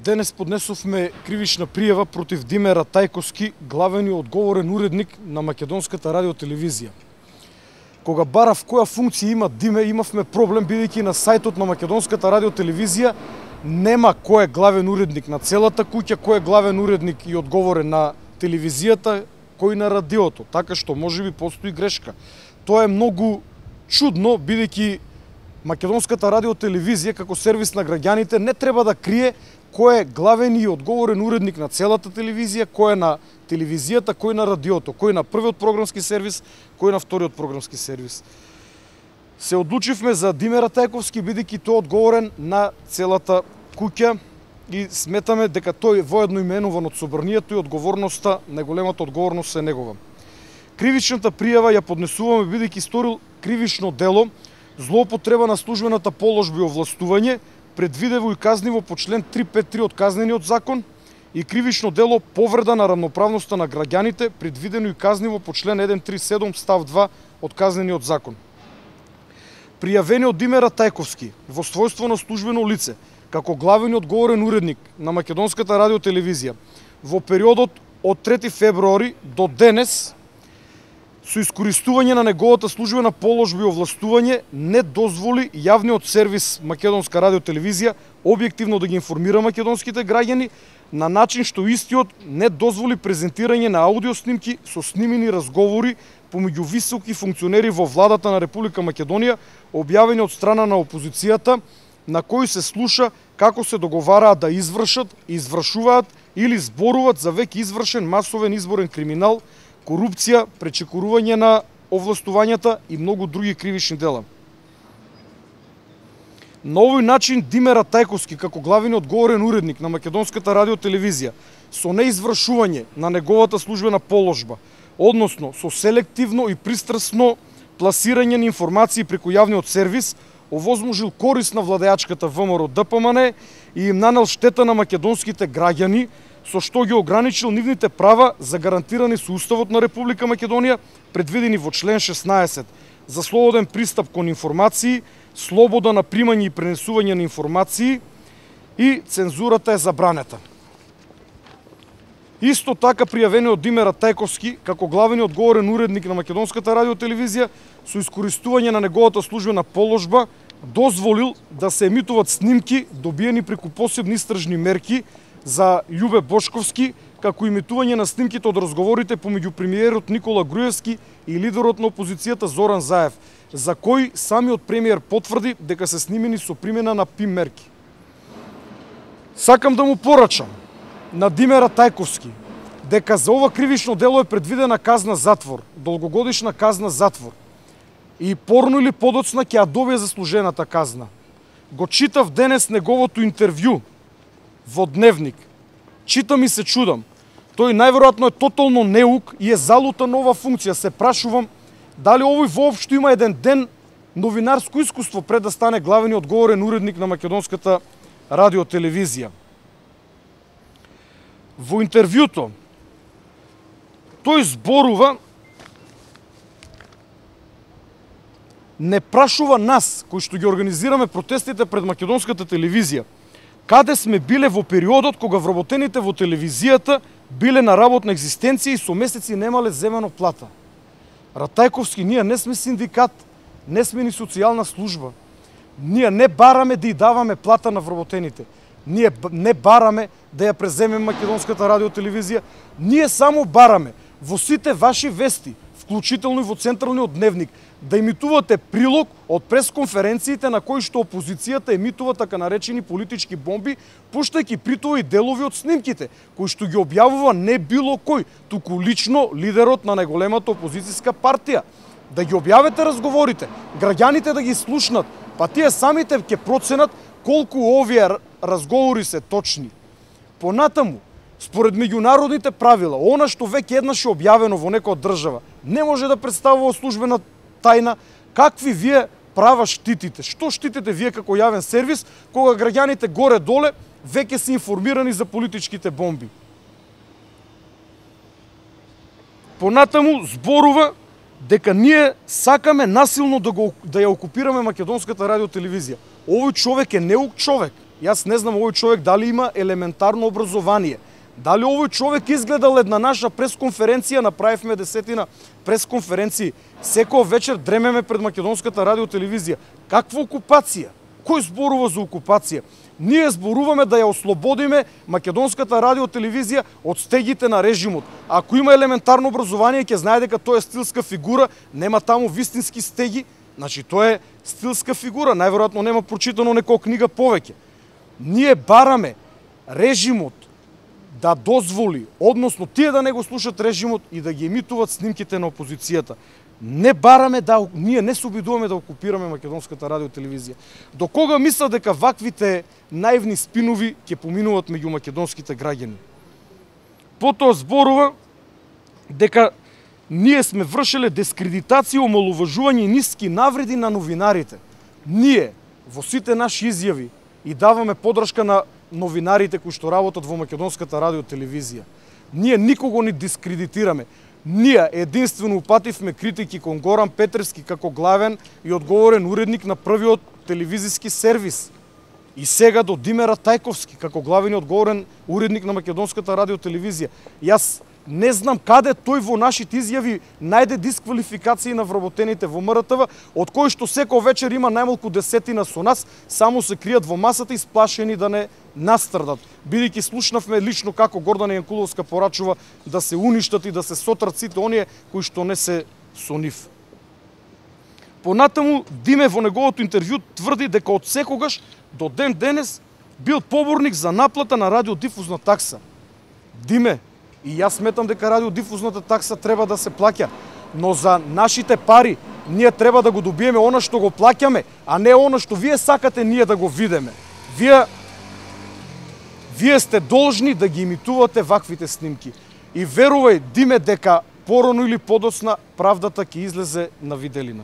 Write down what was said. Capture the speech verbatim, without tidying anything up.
Денес поднесовме кривична пријава против Диме Ратајковски, главен и одговорен уредник на Македонската радиотелевизија. Кога барав која функција има Диме, имавме проблем, бидејќи на сајтот на Македонската радиотелевизија нема кој е главен уредник на целата куќа, кој е главен уредник и одговорен на телевизијата, кој на радиото, така што можеби постои грешка. Тоа е многу чудно, бидејќи Македонската радиотелевизија како сервис на граѓаните не треба да крие кој е главен и одговорен уредник на целата телевизија, кој е на телевизијата, кој на радиото, кој на првиот програмски сервис, кој на вториот програмски сервис. Се одлучивме за Диме Ратајковски, бидејќи тој одговорен на целата куќа и сметаме дека тој воедно именуван од собранието и одговорноста, најголемата одговорност е негова. Кривичната пријава ја поднесуваме бидејќи сторил кривично дело, злоупотреба на службената положба и овластување, предвидево и казниво по член триста петдесет и три од Казнениот закон, и кривично дело повреда на рамноправноста на граѓаните, предвидено и казниво по член еден триста и седум став два од Казнениот закон. Пријавениот Диме Ратајковски во својство на службено лице, како главен и одговорен уредник на Македонската радиотелевизија, во периодот од трети февруари до денес, со искористување на неговата службена положба и овластување, не дозволи јавниот сервис Македонска радиотелевизија објективно да ги информира македонските граѓани, на начин што истиот не дозволи презентирање на аудио снимки со снимени разговори помеѓу високи функционери во владата на Република Македонија, објавени од страна на опозицијата, на кои се слуша како се договараат да извршат, извршуваат или зборуваат за веќе извршен масовен изборен криминал, корупција, пречекорување на овластувањата и многу други кривични дела. На овој начин Диме Ратајковски, како главен и одговорен уредник на Македонската радиотелевизија, со неизвршување на неговата службена положба, односно со селективно и пристрасно пласирање на информации преку јавниот сервис, овозможил корист на владеачката ВМРО Д П М Н и им нанел штета на македонските граѓани, со што ги ограничил нивните права загарантирани со Уставот на Република Македонија, предвидени во член шеснаесет, за слободен пристап кон информации, слобода на примање и пренесување на информации и цензурата е забранета. Исто така пријавениот Диме Ратајковски, како главен и одговорен уредник на Македонската радиотелевизија, со искористување на неговата службена положба, дозволил да се емитуваат снимки добиени преку посебни истражни мерки за Љубе Бошковски, како имитување на снимките од разговорите помеѓу премиерот Никола Груевски и лидерот на опозицијата Зоран Заев, за кој самиот премиер потврди дека се снимени со примена на ПИМ мерки. Сакам да му порачам на Диме Ратајковски дека за ова кривично дело е предвидена казна затвор, долгогодишна казна затвор, и порно или подоцна ќе ја добие заслужената казна. Го читав денес неговото интервју во Дневник. Читам и се чудам. Тој најверојатно е тотално неук и е залута нова функција. Се прашувам дали овој воопшто има еден ден новинарско искуство пред да стане главен и одговорен уредник на Македонската радиотелевизија. Во интервјуто тој зборува, не прашува нас, кои што ги организираме протестите пред Македонската телевизија, каде сме биле во периодот кога вработените во телевизијата биле на работна екзистенција и со месеци немале земено плата. Ратајковски, ние не сме синдикат, не сме ни социјална служба. Ние не бараме да ја даваме плата на вработените. Ние не бараме да ја преземеме Македонската радиотелевизија. Ние само бараме во сите ваши вести, вклучително и во Централниот дневник, да емитувате прилог од пресконференциите на кои што опозицијата емитува така наречени политички бомби, пуштајќи при тоа и делови од снимките, кои што ги објавува не било кој, туку лично лидерот на најголемата опозицијска партија. Да ги објавете разговорите, граѓаните да ги слушнат, па тие самите ќе проценат колку овие разговори се точни. Понатаму, според меѓународните правила, она што веќе еднаш е објавено во некоја држава, не може да представува службена тајна. Какви вие права штитите? Што штитите вие како јавен сервис, кога граѓаните горе-доле веќе се информирани за политичките бомби? Понатаму зборува дека ние сакаме насилно да, го, да ја окупираме Македонската радиотелевизија. Овој човек е неук човек Јас не знам овој човек дали има елементарно образование. Дали овој човек изгледал една наша пресконференција, направивме десетина пресконференции, секој вечер дремеме пред македонската радио телевизија. Каква окупација? Кој зборува за окупација? Ние зборуваме да ја ослободиме македонската радио телевизија од стегите на режимот. Ако има елементарно образование, ќе знае дека тоа е стилска фигура, нема таму вистински стеги, значи тоа е стилска фигура, најверојатно нема прочитано некоја книга повеќе. Ние бараме режимот да дозволи, односно тие да не го слушат режимот и да ги емитуваат снимките на опозицијата. Не бараме да, ние не се обидуваме да окупираме македонската радио телевизија. До кога мислат дека ваквите наивни спинови ќе поминуваат меѓу македонските граѓани? Потоа зборува дека ние сме вршеле дискредитација, омаловажување и ниски навреди на новинарите. Ние во сите наши изјави и даваме подршка на новинарите кои што работат во македонската радио телевизија. Ние никого не дискредитираме. Ние единствено упативме критики кон Горан Петревски како главен и одговорен уредник на првиот телевизиски сервис. И сега до Димера Тајковски како главен и одговорен уредник на македонската радио телевизија. Јас не знам каде тој во нашите изјави најде дисквалификации на вработените во М Р Т В, од кои што секој вечер има најмалку десетина со нас, само се кријат во масата исплашени да не настрадат. Бидејќи слушнавме лично како Гордана Јанкуловска порачува да се уништат и да се сотрат сите оние кои што не се со нив. Понатаму Диме во неговото интервју тврди дека од секогаш до ден денес бил поборник за наплата на радиодифузна такса. Диме, и јас сметам дека радиодифузната такса треба да се плаќа, но за нашите пари ние треба да го добиеме она што го плаќаме, а не она што вие сакате ние да го видиме. Вие Вие сте должни да ги имитувате ваквите снимки. И верувај, Диме, дека порано или подоцна правдата ќе излезе на виделина.